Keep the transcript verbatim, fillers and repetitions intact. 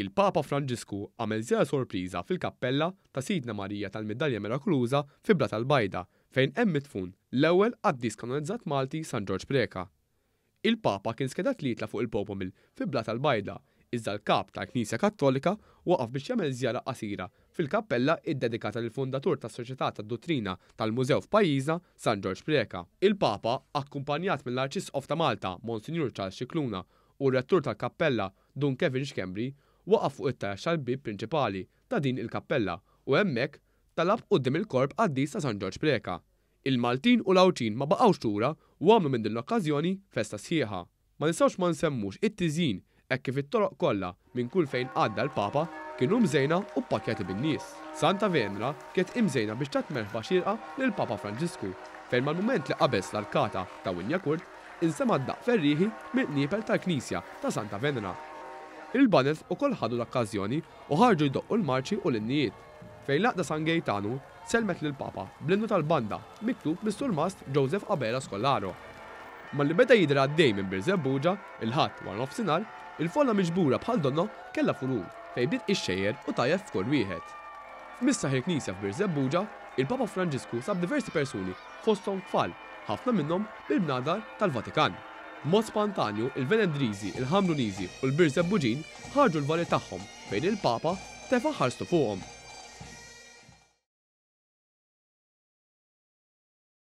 Il-Papa Franġisku għamel żjara sorpriża fil-kappella ta' Sidna Marija tal-Midalja Mirakoluża fi Blata l-Bajda, fejn hemm midfun l-ewwel qaddis kanonizzat Malti, San Ġorġ Preca. Il-Papa kien skedat li jitla' fuq il-Popomil fi Blata l-Bajda, iżda l-kap tal-Knisja Kattolika waqaf biex jagħmel żjara qasira fil-kappella iddedikata lill-fundatur tas-Soċjetà tad-Duttrina tal-Mużew f'pajjiżna, San Ġorġ Preca. Il-Papa, akkumpanjat mill-Arċisqof ta' Malta, Monsinjur Charles Scicluna, u r-rettur tal-kappella, Dun Kevin Schembri, waqaf fuq it-taraġ tal-bieb prinċipali ta' din il-kappella u hemmhekk talab quddiem il-korp qaddis ta' San Ġorġ Preca. Il-Maltin u l-Għawdxin ma baqgħux lura u għamlu minn din l-okkażjoni festa sħiħa. Ma nistgħux ma nsemmux it-tiżjin, hekk kif it-toroq kollha minn kull fejn għadda l-Papa kienu mżejna u ppakkjati bin-nies. Santa Venera kienet imżejna biex tat merħba xierqa lill-Papa Franġisku, fejn mal-mument li qabeż l-arkata ta' Wignacourt insema' d-daqq ferrieħi mill-qniepel tal-Knisja ta' Santa Venera. Il-baned ukoll ħadu l-okkażjoni u ħarġu jdoqqu l-marċi u l-innijiet, fejn l-Għaqda San Gejtanu sellmet lill-Papa bl-innu tal-banda miktub mis-Surmast Joseph Abela Scolaro. Malli beda jidher għaddej minn Birżebbuġa, il-Ħadd wara nofsinhar, il-folla miġbura bħal donnha kellha furur, fejn bdiet ixxejjer u tajjeb f'kull wieħed. F'Misraħ il-Knisja f'Birżebbuġa, il-Papa Franġisku sab diversi persuni, fosthom tfal, ħafna minnhom bil-bnadar tal-Vatikan. B'mod spontanju, il-Venedriżi, il-Ħamruniżi u l-Birżebbuġin ħarġu l-vari tagħhom, fejn il-Papa tefa' ħarstu fuqhom.